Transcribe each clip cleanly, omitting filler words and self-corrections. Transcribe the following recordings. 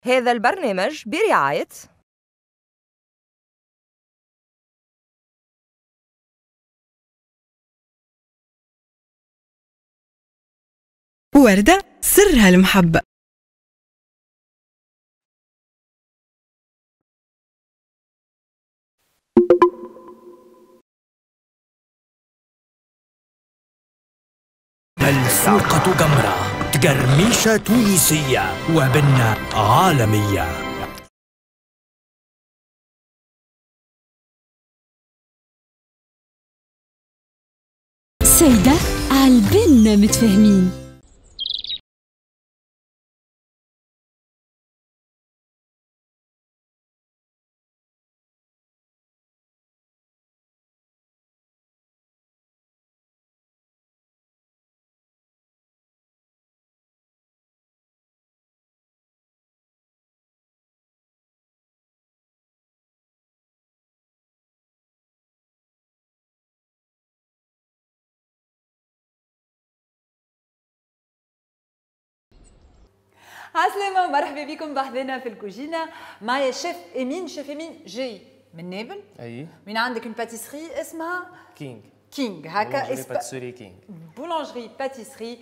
هذا البرنامج برعاية وردة سرها المحبة. السوقة جمرة، تقرميشة تونسية وبنة عالمية. سيدة عالبنا متفاهمين. عسلامة ومرحبا بكم بحذنا في الكوجينة. معايا شيف امين. شيف امين جاي من نابل. اي من عندك une pâtisserie اسمها كينغ. كينغ هكا boulangerie pâtisserie كينغ. boulangerie pâtisserie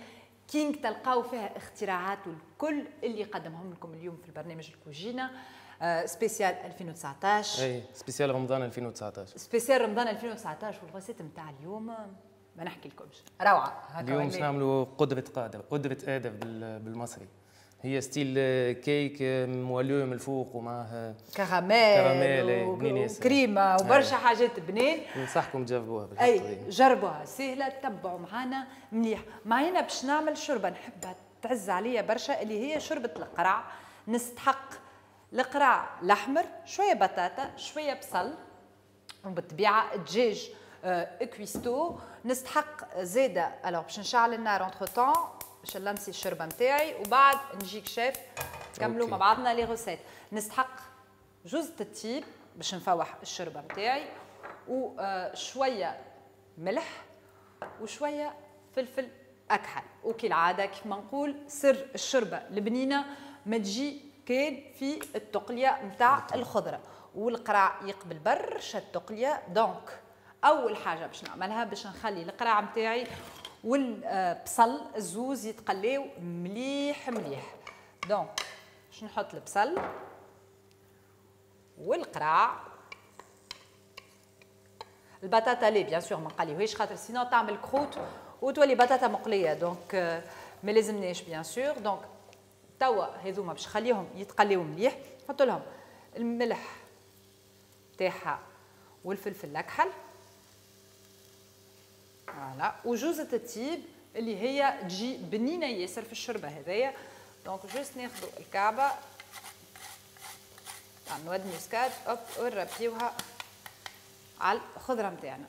كينغ تلقاو فيها اختراعات والكل اللي قدمهم لكم اليوم في البرنامج الكوجينة spécial 2019. اي spécial رمضان 2019. spécial رمضان 2019. وال recette نتاع اليوم ما نحكي لكمش، روعة. هكا اليوم باش نعملوا قدرة قادر، قدرة قادر بالمصري. هي style cake moelleux من الفوق ومعاه كراميل وكريمه وبرشا حاجات بنين. ننصحكم تجربوها بالحق. اي جربوها سهلة، تبعوا معانا مليح. معانا باش نعمل شوربة نحبها تعز عليا برشا اللي هي شوربة القرع. نستحق القرع الاحمر، شوية بطاطا، شوية بصل، وبالطبيعه دجاج كويستو. نستحق زاده alors باش نشعل النار entre-temps باش نلمسي الشوربة نتاعي وبعد نجيك شيف نكملوا مع بعضنا les recettes. نستحق جوزة الطيب باش نفوح الشوربة نتاعي، وشوية ملح وشوية فلفل اكحل. وكالعادة كيف ما نقول سر الشوربة البنينه ما تجي كان في التقليه نتاع الخضرة، والقرع يقبل برشا التقليه. donc اول حاجة باش نعملها باش نخلي القرع نتاعي والبصل الزوز يتقليو مليح مليح. donc باش نحط البصل والقرع، البطاطا لي bien sûr ما نقليوهاش خاطر sinon تعمل croûte وتولي بطاطا مقلية، donc ما لازمناش bien sûr. donc توا هذوما باش نخليهم يتقليو مليح، نحط لهم الملح تاعها والفلفل الاكحل voilà، وجوزة الطيب اللي هي تجي بنينه ياسر في الشوربة هذايا. donc juste ناخذوا الكعبة تاع noix de muscade hop ونربيوها على الخضرة نتاعنا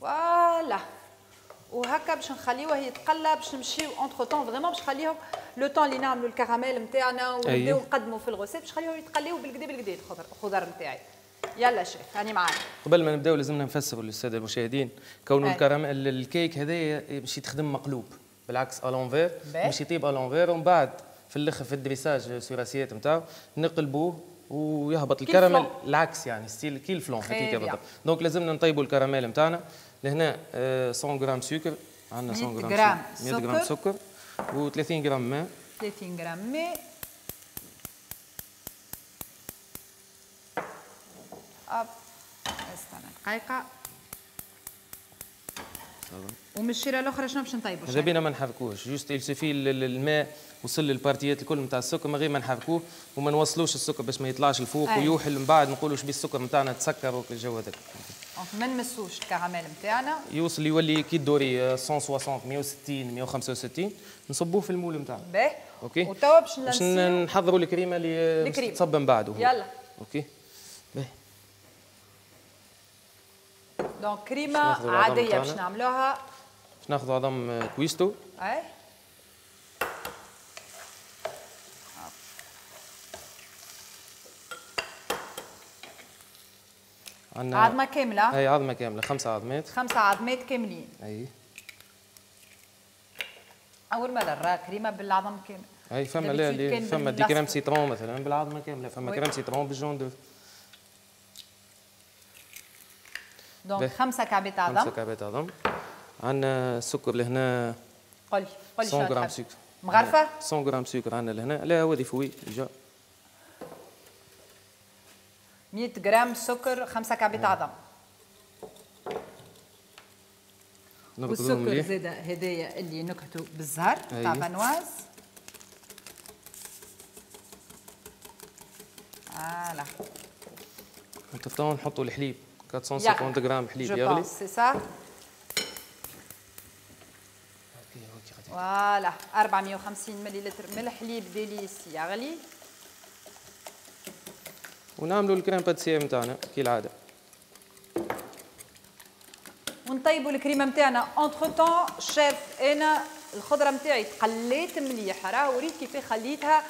voilà. وهكا باش نخليوه يتقلى باش نمشيو entre-temps vraiment باش نخليهم le temps اللي نعملوا الكراميل نتاعنا ونبداو نقدموا في ال recette باش نخليهم يتقليو بالكدا بالكدا الخضر نتاعي. يلا شيف هاني معاك. قبل ما نبداو لازمنا نفسروا للسادة المشاهدين كونه الكراميل الكيك هذايا باش يتخدم مقلوب بالعكس à l'envers، باش يطيب à l'envers ومن بعد في الاخر في ال dressage sur assiette نتاعو نقلبوه ويهبط الكراميل العكس، يعني style كي ال flan هكاك بالضبط. donc لازمنا نطيبوا الكراميل نتاعنا. لهنا 100 غرام سكر، عندنا 100 غرام 100 غرام سكر و30 غرام ماء، 30 غرام ماء. hop استنى دقيقة. ومن الشيره الاخرى شنو باش نطيبوا؟ ماذا بينا ما نحركوهش، juste il suffit الماء وصل لل partie الكل نتاع السكر من غير ما نحركوه وما نوصلوش السكر باش ما يطلعش الفوق ويوحل من بعد نقولوا شبيه السكر نتاعنا تسكر والجو هذاك. donc ما نمسوش الكراميل نتاعنا، يوصل يولي كي الدوري 160 160 165 نصبوه في ال moule نتاعنا. باهي OK. وتوا باش نحضروا الكريمة اللي تصب من بعده. يلا OK باهي. donc كريمة عادية باش نعملوها. باش ناخذوا عظم كويستو. اي عندنا عظمه كاملة. اي عظمه كاملة، 5 عظمات. 5 عظمات كاملين. اي اول مرة نرى كريمة بالعظم كامل. اي فما لا فما des crèmes citron مثلا بالعظمة كاملة، فما crème citron بال jaune d'œuf. donc 5 كعبات عظم. 5 كعبات عظم. عندنا السكر لهنا. قولي قولي 100 غرام سكر. مغرفه؟ 100 غرام سكر عندنا لهنا، لا هو des fouets déjà. 100 غرام سكر، 5 كعبات عظم. والسكر زاد هدايا اللي نكهته بالزهر تاع Vanoise. voilà. وتفتحوا نحطوا الحليب 450 غرام حليب يغلي. c'est ça. voilà 450 مليلتر من الحليب Délice يغلي. ونعملوا ال crème pâtissière نتاعنا كالعادة. ونطيبوا الكريمة نتاعنا entre-temps chef. انا الخضرة نتاعي تقليت مليح، راه وريت كيف خليتها،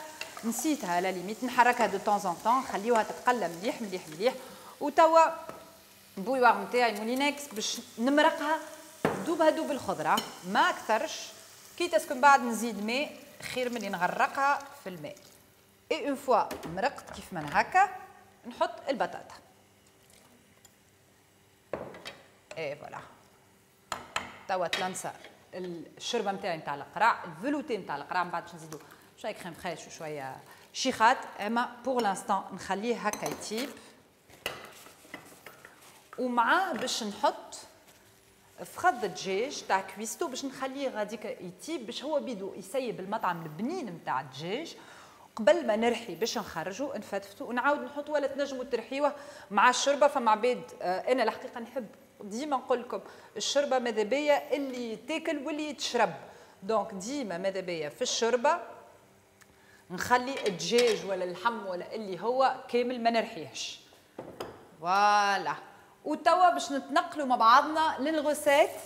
نسيتها à la limite نحركها de temps en temps، نخليوها تتقلى مليح مليح مليح. وتوا ال bouilloire نتاعي Moulinex باش نمرقها دوبها دوب الخضرة، ما اكثرش. كي تسكن بعد نزيد ماء خير من اللي نغرقها في الماء. et une fois مرقت كيف من هكا نحط البطاطا. et voilà توا تلانسا الشوربة نتاعي نتاع القرع، ال velouté نتاع القرع. من بعد باش نزيدو شوية crème fraîche وشوية شيخات، اما pour l'instant نخليه هكا يطيب. ومعاه باش نحط فخذ الدجاج تاع كويستو باش نخليه غاديك يطيب، باش هو بيدو يسيب المطعم البنين نتاع الدجاج. قبل ما نرحي باش نخرجو نفتفتو ونعاود نحطو، ولا تنجمو ترحيوه مع الشوربة. فما عباد انا الحقيقة نحب ديما نقول لكم الشوربة ماذا بيا اللي تاكل واللي يتشرب، donc ديما ماذا بيا في الشوربة نخلي الدجاج ولا اللحم ولا اللي هو كامل ما نرحيهش. voilà. وتوا باش نتنقلوا مع بعضنا لل recette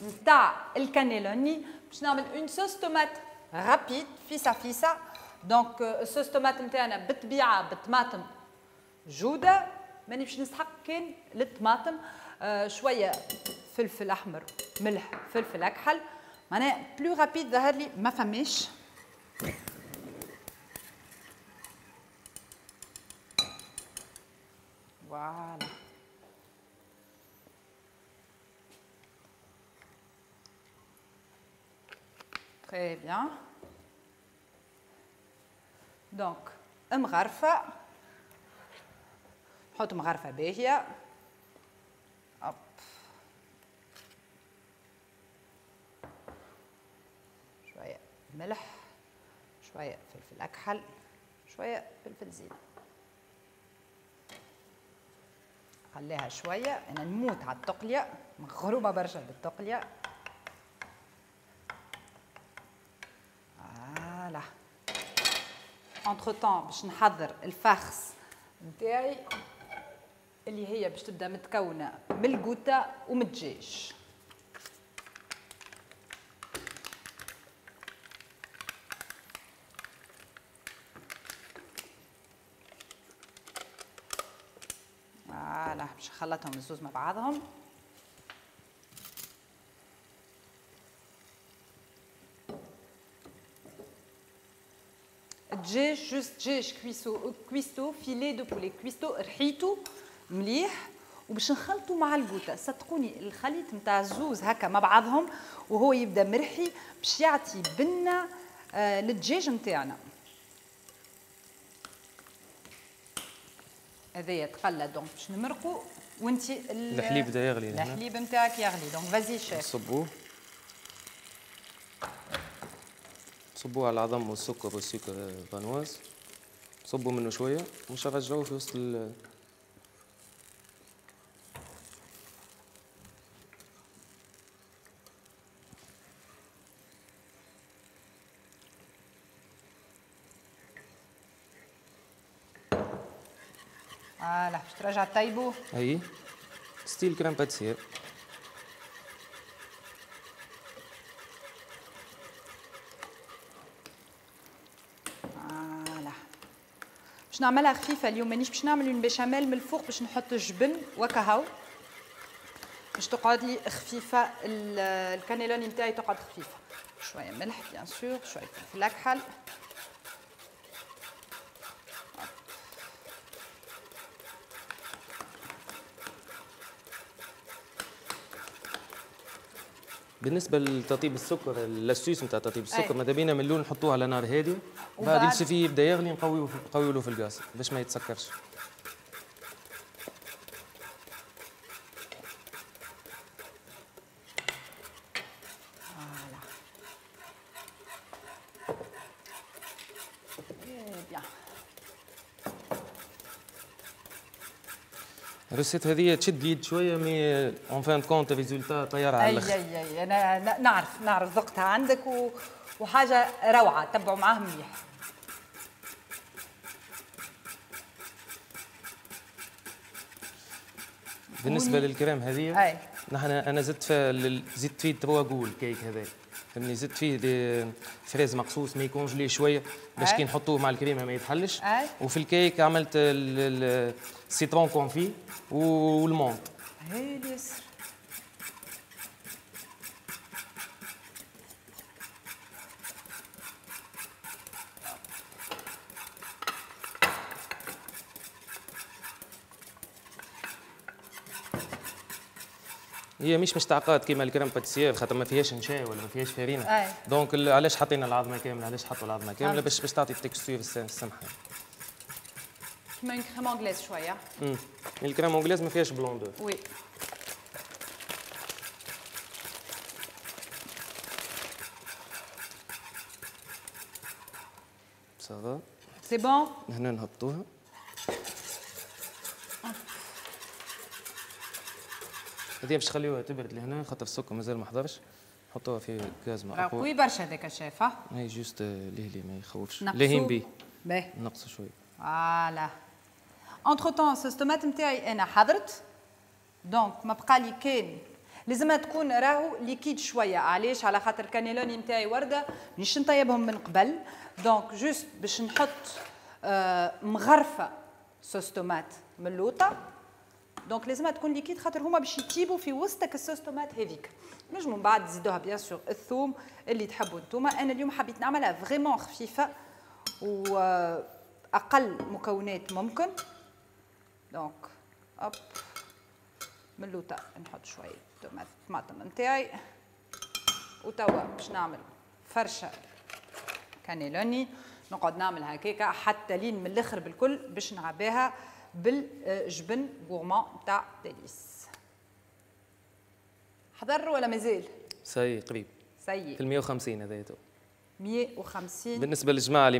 نتاع الكانيلوني. باش نعمل une sauce tomate rapide فيسا فيسا. donc ال sauce tomate نتاعنا بالطبيعة بالطماطم جوده، ماني باش نسحق كان للطماطم، شوية فلفل احمر، ملح، فلفل اكحل. معناها plus rapide ظهر لي ما فماش. voilà très bien. donc مغرفه، نحط مغرفه باهيه. hop شوية ملح، شوية فلفل اكحل، شوية فلفل زين. خليها شوية، انا نموت على التقليه، مغرومه برشا بالتقليه. voilà entre-temps باش نحضر ال farce نتاعي اللي هي باش تبدا متكونه من القوته ومن الدجاج. voilà باش نخلطهم الزوز مع بعضهم. دجاج juste دجاج كويسو filet de poulet كويسو رحيتو مليح، وباش نخلطو مع القوته. صدقوني الخليط نتاع الزوز هكا مع بعضهم وهو يبدا مرحي باش يعطي بنه للدجاج نتاعنا. هذايا تقلى donc باش نمرقو. وانت الحليب بدا يغلي، الحليب نتاعك يغلي donc vas-y chef. نصبوه صبوه على العظم والسكر والسكر Vanoise، صبوا منه شوية ومش نرجعوه في وسط voilà باش ترجع طيبو. اي style crème pâtissière. voilà باش نعملها خفيفة اليوم، مانيش باش نعمل une béchamel من الفوق باش نحط الجبن وكهو، باش تقعد لي خفيفة الكانيلوني نتاعي تقعد خفيفة. شوية ملح bien sûr، شوية فلفل اكحل. بالنسبة لتطيب السكر، l'astuce نتاع تطيب السكر ماذا بينا من الاول نحطوه على نار هادية، بعد il suffit يبدا يغلي نقويو له في الغاز باش ما يتسكرش. ال recette هذه تشد اليد شوية mais en fin de compte résultat طيارة على الاخر. اي اي انا نعرف ذقتها عندك وحاجه روعه، تبعوا معاه مليح. بالنسبة للكريم هذه نحن انا زدت فيه trois goûts الكيك هذا، فهمني، زدت فيه des fraises مقصوص mais congelé شوية باش كي نحطوه مع الكريمة ما يتحلش. وفي الكيك عملت ال citron confit وال menthe. هايل ياسر. هي مش مشتعقات كيما ال crème pâtissière خاطر ما فيهاش نشا ولا ما فيهاش فرينه. donc علاش حطينا العظمة كاملة؟ علاش حطوا العظمة كاملة؟ باش تعطي ال texture السمحة. كيما crème anglaise شوية. ال crème anglaise ما فيهاش blanc d'œuf. oui. ça va؟ c'est bon؟ هنا نهبطوها. هذه باش تخليوها تبرد لهنا خاطر السكر مازال ما حضرش، نحطوها في غاز ما اقوى. قوي برشا هذاك الشيف. اي juste ليه ما يخوفش، لاهين بيه. باهي نقصوا شوية. voilà. entre-temps sauce tomate نتاعي انا حضرت، donc ما بقى لي كان لازمها تكون راهو liquide شوية. علاش؟ على خاطر كانيلوني نتاعي ورده مانيش نطيبهم من قبل، donc juste باش نحط مغرفه sauce tomate من اللوطه. donc لازمها تكون liquide خاطر هما باش يطيبوا في وسطك ال sauce tomate هذيك. نجموا من بعد تزيدوها bien sûr الثوم اللي تحبوا انتوما. انا اليوم حبيت نعملها vraiment خفيفة واقل مكونات ممكن. donc hop من اللوطه نحط شوية طماطم نتاعي، وتوا باش نعمل فرشه كانيلوني. نقعد نعمل هكاكا حتى لين من الاخر بالكل باش نعبيها بالجبن gourmand تاع ديليس. حضر ولا مازال؟ ça y est قريب. ça y est في 150 هذايا تو. 150. بالنسبة للجماعة اللي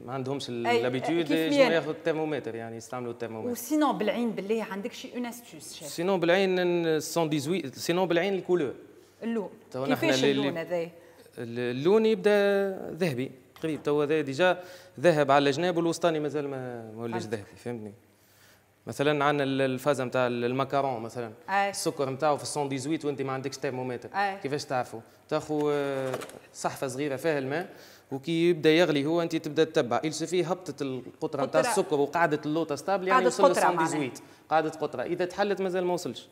ما عندهمش l'habitude ينجموا ياخذوا الترمومتر، يعني يستعملوا الترمومتر. و sinon بالعين بالله عندك شي une astuce chef؟ sinon بالعين 118، sinon بالعين ال couleur. اللون كيفاش اللون هذايا؟ اللون يبدا ذهبي قريب، تو هذا déjà ذهب على الجناب والوسطاني مازال ما ولاش ذهبي، فهمتني؟ مثلا عندنا الفازة نتاع الماكارون مثلا. السكر نتاعو في 118 وانت ما عندكش ترمومتر. كيفاش تعرفوا؟ تاخذ صحفه صغيرة فيها الماء وكي يبدا يغلي هو انت تبدا تتبع، il suffit هبطت القطرة نتاع السكر وقعدت اللوطه stable، يعني وصل ل 118 قعدت قطرة، اذا تحلت مازال ما وصلش.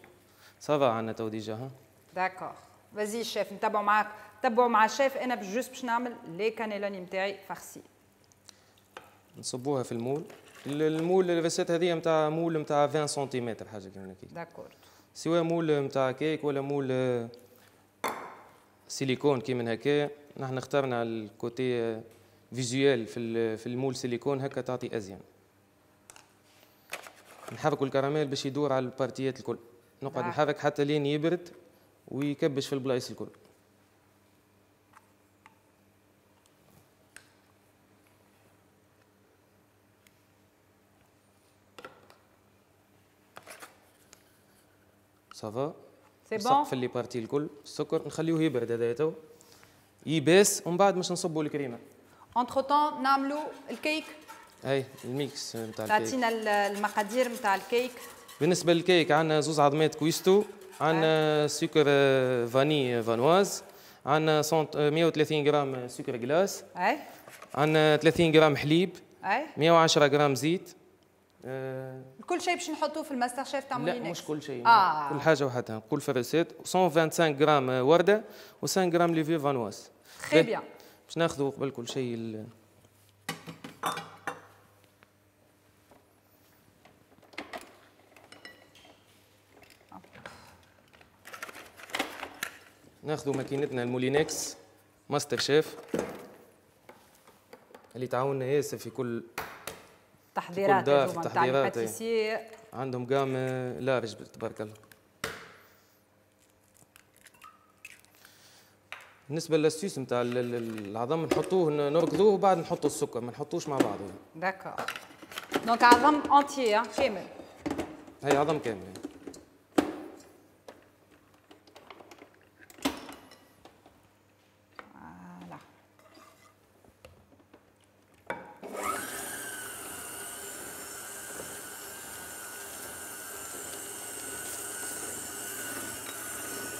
ça va عندنا تو déjà. ها d'accord vas-y chef، نتبعوا معاك، تبعوا مع الشيف. انا juste باش نعمل les cannellonis نتاعي farcis. نصبوها في ال moule. ال moule ال recette هذه نتاع moule نتاع 20 سنتيمتر حاجة كيما هكا. d'accord. سواء moule نتاع كيك ولا moule سيليكون كيما هكا. نحن اخترنا ال côté visuel في ال moule silicone هكا تعطي ازين. نحركوا الكراميل باش يدور على ال parties الكل، نقعد نحرك حتى لين يبرد ويكبش في البلايص الكل. ça va c'est bon في les parties الكل. السكر نخليوه يبرد هذايا تو يباس، ومن بعد باش نصبوا الكريمة. entre-temps نعملوا الكيك. اي ال mix نتاع الكيك. تعطينا المقادير نتاع الكيك. بالنسبة للكيك عندنا زوز عظمات كويستو، عندنا سكر vanille Vanoise، عندنا 130 غرام سكر glace، اي عندنا 30 غرام حليب، اي 110 غرام زيت. كل شيء باش نحطوه في الماستر شيف تاع لا مش كل شيء. كل حاجة وحدها. نقول في ال recette 125 غرام ورده و5 غرام levure Vanoise. très bien. باش ناخذوا قبل كل شيء ناخذوا ماكينتنا ال Moulinex Master Chef اللي تعاوننا ياسر في كل تحضيرات في كل دار، في التحضيرات عندهم gamme large تبارك الله. بالنسبة لل astuce نتاع العظم نحطوه نركضوه وبعد نحطوا السكر، ما نحطوش مع بعض. d'accord donc عظم entier كامل. هي عظم كامل. voilà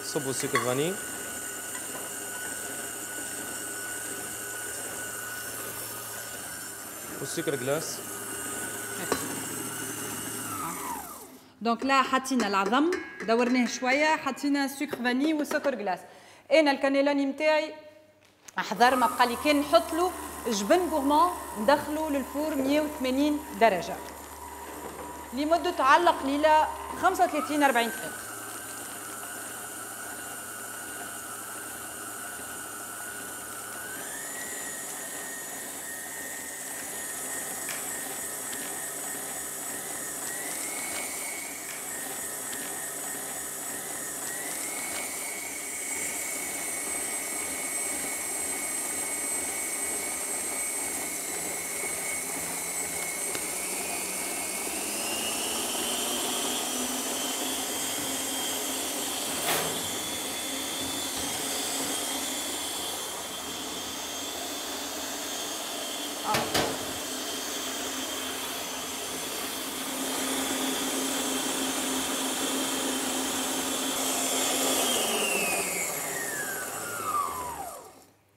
صبوا السكر vanillé. والسكر glace. donc là حطينا العظم دورناه شوية، حطينا السكر vanillé والسكر glace. انا الكانيلوني نتاعي احضر، ما بقى لي كان نحط له جبن gourmand، ندخله لل four 180 درجه لمدة على قليله 35 40 دقيقة.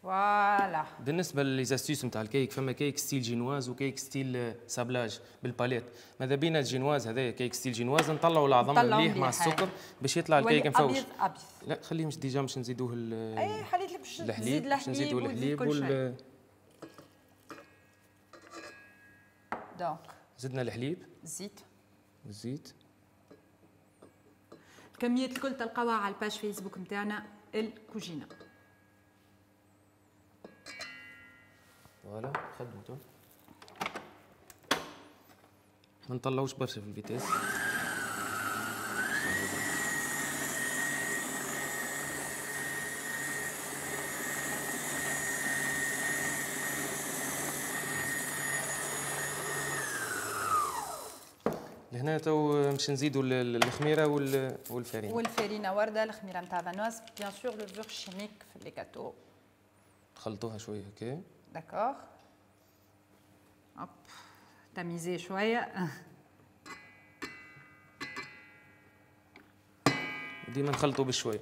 voilà. بالنسبة les astuces نتاع الكيك، فما cake style génoise و cake style sablage بال palette. ماذا بينا الجينواز هذايا cake style génoise نطلعوا العظم مليح مع السكر باش يطلع الكيك مفوش. ابيض ابيض. لا خليه مش déjà باش نزيدوه اي حليت لك باش تزيد الحليب، باش نزيدوه الحليب وال donc زدنا الحليب، الزيت، الزيت. الكميات الكل تلقاوها على ال page Facebook نتاعنا الكوجينه. voilà خدمته. ما نطلعوش برشا في ال vitesse. لهنا تو باش نزيدوا الخميره والفارينه. والفارينه ورده، الخميره نتاع Vanoise، bien sûr levure chimique في les gâteaux. خلطوها شوية هكا. d'accord. hop tamiser شوية. ديما نخلطوا بشوية.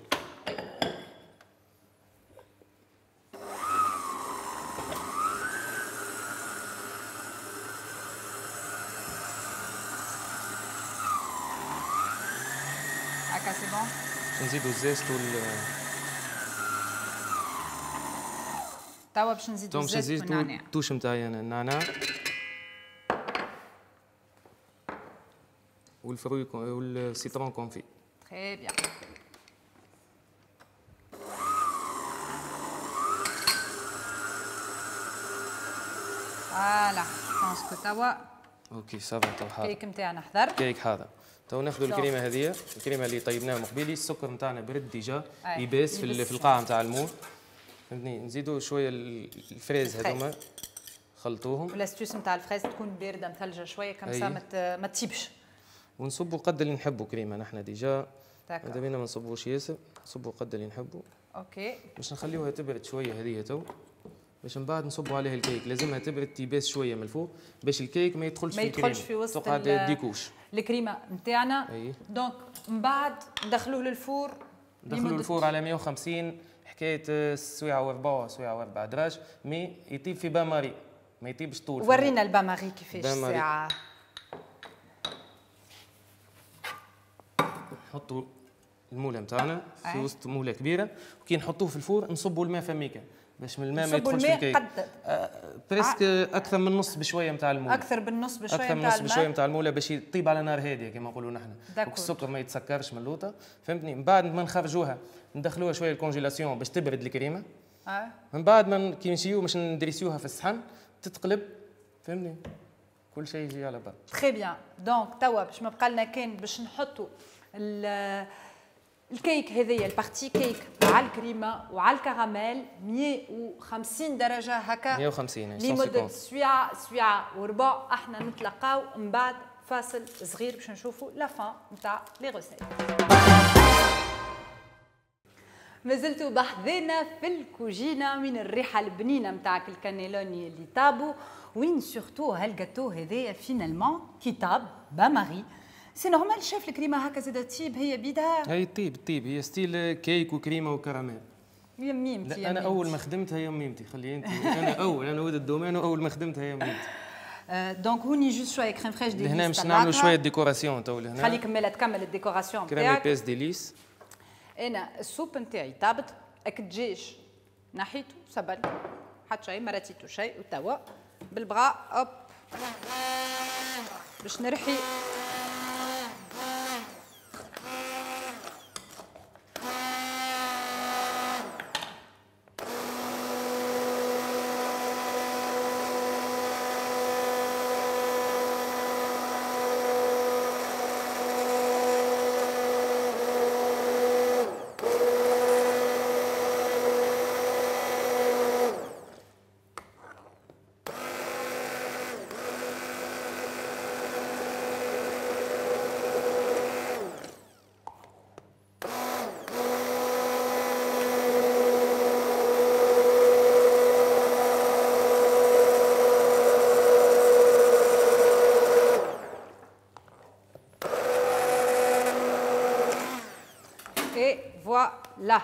هكا c'est bon. نزيدو ال zeste وال توا باش نزيدو الزيت والنعناع. ال touche نتاعي انا النعناع وال fruits وال citron confit. très bien. voilà pense que توا OK ça va. تو حاضر الكيك نتاعنا حضر. كيك حاضر. تو ناخذوا الكريمة هذه، الكريمة اللي طيبناها من قبيلي، السكر نتاعنا برد déjà يباس في القاعة نتاع ال moule، فهمتني. نزيدوا شوية ال fraises هذوما خلطوهم. وال astuce نتاع ال fraises تكون باردة مثلجه شوية comme ça ما تطيبش. ونصبوا قد اللي نحبوا كريمة نحن déjà، ماذا بينا ما نصبوش ياسر، نصبوا قد اللي نحبوا. OK باش نخليوها تبرد شوية هذه تو، باش من بعد نصبوا عليها الكيك. لازمها تبرد تيباس شوية من الفوق باش الكيك ما يدخلش في الكريمة، ما يدخلش في وسط تقعد des couches الكريمة نتاعنا. donc من بعد ندخلوه لل four. ندخلوه لل four على 150 حكاية سويعه وربع، سويعه وربع دراج، mais يطيب في bain-marie، ما يطيبش طول. ورينا ال bain-marie كيفاش الساعة. نحطوا ال moule نتاعنا في وسط moule كبيرة، وكي نحطوه في ال four نصبوا الماء فميكا باش من الماء ما يدخلش في الكيك. presque اكثر من نص بشوية نتاع ال moule. اكثر بالنص بشوية نتاع الماء. اكثر من نص بشوية نتاع ال moule باش يطيب على نار هادية كما نقولوا نحن. السكر ما يتسكرش من اللوطه، فهمتني؟ من بعد ما نخرجوها ندخلوها شوية ال congélation باش تبرد الكريمة. من بعد ما كي نمشيو باش ندريسيوها في الصحن تتقلب، فهمتني؟ كل شيء يجي على بعض. très bien. donc توا باش ما بقى لنا كان باش نحطوا الكيك هذيا ال partie cake على الكريمة وعلى الكراميل 150 درجه هكا 150 لمدة سويعه سويعه وربع. احنا نتلاقاو من بعد فاصل صغير باش نشوفوا la fin نتاع les recettes. مازلتوا بحذنا في الكوجينه من الريحة البنينه نتاعك الكانيلوني اللي طابو، وين surtout هال gâteau هذايا finalement كي طاب bain-marie. c'est normal chef الكريمة هكا زاده تطيب هي بيدها؟ هي تطيب تطيب، هي style cake وكريمه وكراميل. يا ميمتي. انا اول ما خدمتها يا ميمتي، خلي انت انا اول انا ولد ال domaine واول ما خدمتها يا ميمتي. donc هوني juste شوية crème fraîche Délice. لهنا باش نعملوا شوية décoration تو لهنا. خليك مالا تكمل ال décoration تاعك. crème épaisse Délice. انا ال soupe نتاعي طابت، اك الدجاج نحيته سبل حتى شيء ما راتيتو شيء، وتوا بالبغا hop باش نرحي voilà.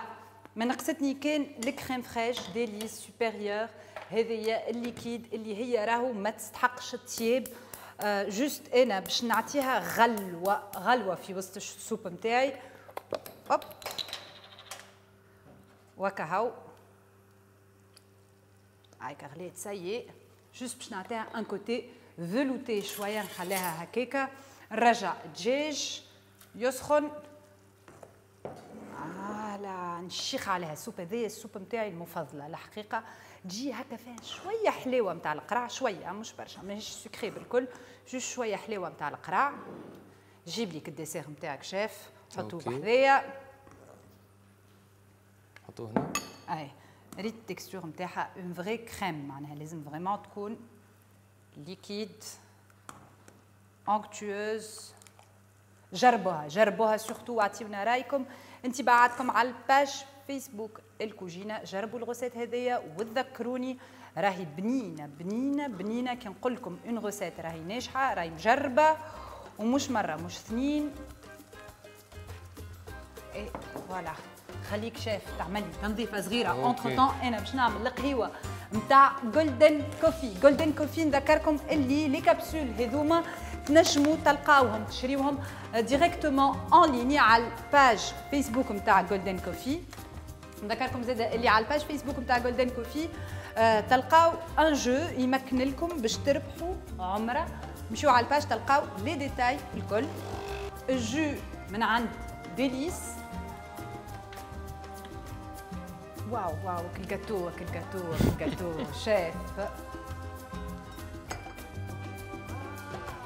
ما نقصتني كان ال crème fraîche Délice supérieure، هذه ال liquide اللي هي راهو ما تستحقش الطياب. juste انا باش نعطيها غلوه غلوه في وسط ال soupe نتاعي. hop وكهو هايكا غليت ça y est. juste باش نعطيها un côté velouté شوية، نخليها هكاكا. نرجع الدجاج يسخن voilà، نشيخ عليها ال soupe هذيا. ال soupe نتاعي المفضلة الحقيقة، تجي هكا فيها شوية حلاوة نتاع القرع، شوية مش برشا، ماهيش sucrée بالكل، juste شوية حلاوة نتاع القرع. جيب لك ال dessert نتاعك شيف، حطوه بحذايا، حطوه هنا. اي ريت ال texture نتاعها une vraie crème، معناها لازم vraiment تكون liquide onctueuse. جربوها جربوها surtout واعطيونا رايكم انطباعاتكم على ال page فيسبوك الكوجينه. جربوا ال recette هذيا وتذكروني، راهي بنينه بنينه بنينه. كي نقول لكم une recette راهي ناجحة، راهي مجربه، ومش مرة مش اثنين. et voilà خليك شيف تعمل لي تنظيفه صغيرة entre-temps. انا باش نعمل القهيوه نتاع Golden Coffee. Golden Coffee نذكركم اللي les capsules هذوما تنجموا تلقاوهم تشريوهم directement en ligne على ال page فيسبوك نتاع Golden Coffee. نذكركم زاد اللي على ال page فيسبوك نتاع Golden Coffee تلقاو un jeu يمكن لكم باش تربحوا عمره. مشيو على ال page تلقاو les détails الكل. ال jus من عند Délice. واو واو كل جاتو كل gâteau كل gâteau chef،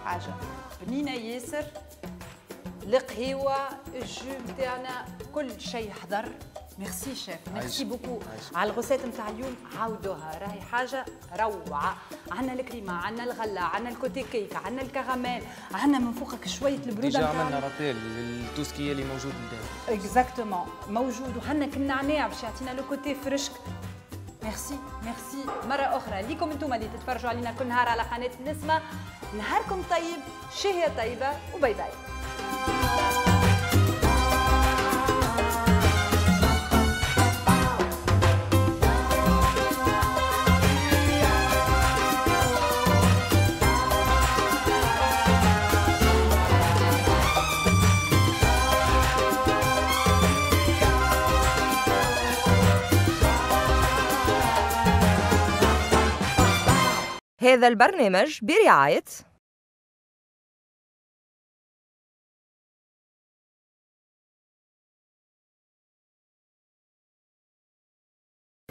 حاجة بنينه ياسر. القهيوه ال jus نتاعنا كل شيء حضر. merci chef، merci beaucoup على ال recette نتاع اليوم. عاودوها راهي حاجة روعه. عندنا الكريمة، عندنا الغلة، عندنا ال côté cake، عندنا الكراميل، عندنا من فوقك شوية البرودة. déjà عملنا rappel لل tout ce qui اللي موجود لداخل. exactement موجود، وعندنا النعناع باش يعطينا le côté fraîche. merci merci مرة اخرى ليكم انتم اللي تتفرجوا علينا كل نهار على قناة نسمه. نهاركم طيب، شهية طيبة، و bye bye. هذا البرنامج برعاية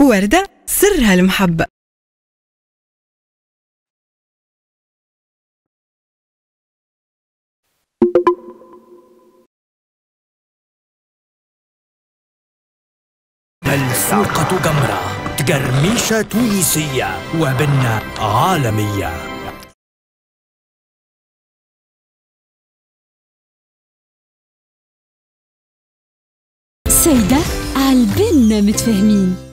وردة سرها المحبة. ملفوقة جمرة، تقرميشة تونسية وبنة عالمية. سيدة عالبنة متفاهمين.